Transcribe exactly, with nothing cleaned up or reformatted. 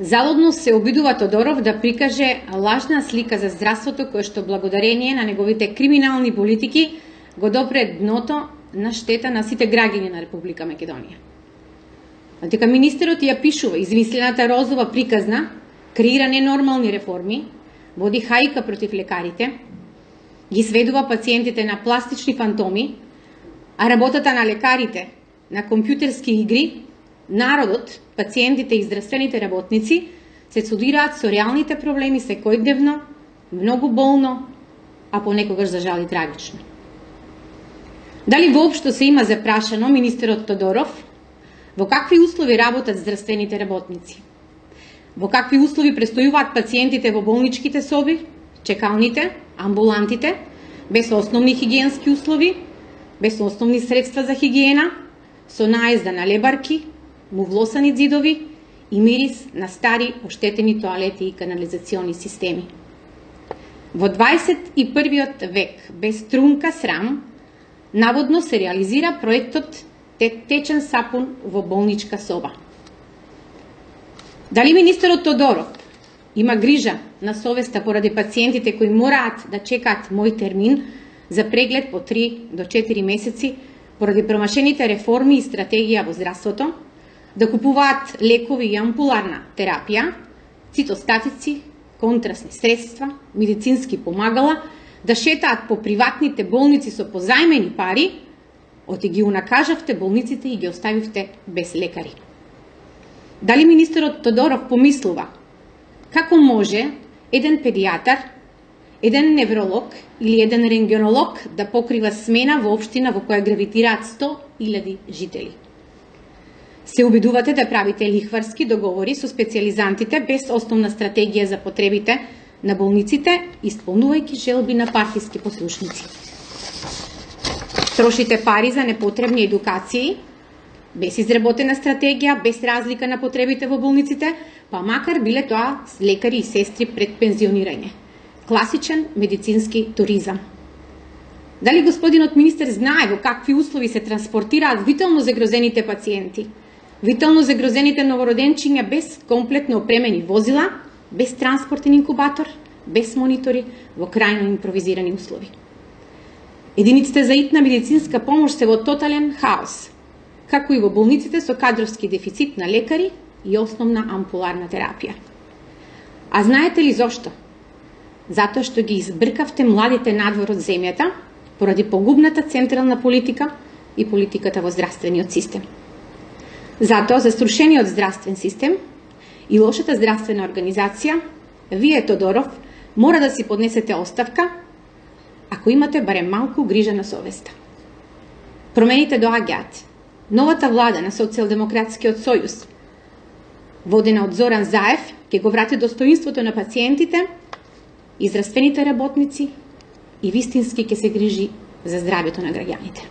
Залудно се обидува Тодоров да прикаже лажна слика за здравството кој што благодарение на неговите криминални политики го допре дното на штета на сите граѓани на Република Македонија. А дека министерот ја пишува измислената розова приказна, креира ненормални реформи, води хајка против лекарите, ги сведува пациентите на пластични фантоми, а работата на лекарите на компјутерски игри, народот, пациентите и здравствените работници се судираат со реалните проблеми секојдневно, многу болно, а понекогаш за жал и трагично. Дали воопшто се има запрашано министерот Тодоров во какви услови работат здравствените работници? Во какви услови престојуваат пациентите во болничките соби, чекалните, амбулантите, без основни хигиенски услови, без основни средства за хигиена, со наезда на лебарки, мувлосани ѕидови и мирис на стари оштетени тоалети и канализациони системи. Во дваесет и првиот век, без трунка срам, наводно се реализира проектот течен сапун во болничка соба. Дали министерот Тодоров има грижа на совеста поради пациентите кои мораат да чекаат мој термин за преглед по три до четири месеци поради промашените реформи и стратегија во здравството, да купуваат лекови и ампуларна терапија, цитостатици, контрасни средства, медицински помагала, да шетаат по приватните болници со позајмени пари, оти ги унакажавте болниците и ги оставивте без лекари. Дали министерот Тодоров помислува како може еден педијатар, еден невролог или еден рентгенолог да покрива смена во општина во која гравитираат сто илјади жители? Се обидувате да правите лихварски договори со специјализантите без основна стратегија за потребите на болниците, исполнувајќи желби на партиски послушници. Трошите пари за непотребни едукации, без изработена стратегија, без разлика на потребите во болниците, па макар биле тоа лекари и сестри пред пензионирање. Класичен медицински туризам. Дали господинот министер знае во какви услови се транспортираат витално загрозените пациенти, витално загрозените новороденчиња без комплетно опремени возила, без транспортен инкубатор, без монитори, во крајно импровизирани услови? Единиците за итна медицинска помош се во тотален хаос, како и во болниците со кадровски дефицит на лекари и основна ампуларна терапија. А знаете ли зошто? Затоа што ги избркавте младите надвор од земјата поради погубната централна политика и политиката во здравствениот систем. Затоа за струшениот здравствен систем и лошата здравствена организација, вие, Тодоров, мора да си поднесете оставка ако имате барем малку грижа на совеста. Промените доаѓаат. Новата влада на Социјалдемократскиот сојуз, водена од Зоран Заев, ќе го врати достоинството на пациентите и здравствените работници и вистински ќе се грижи за здравјето на граѓаните.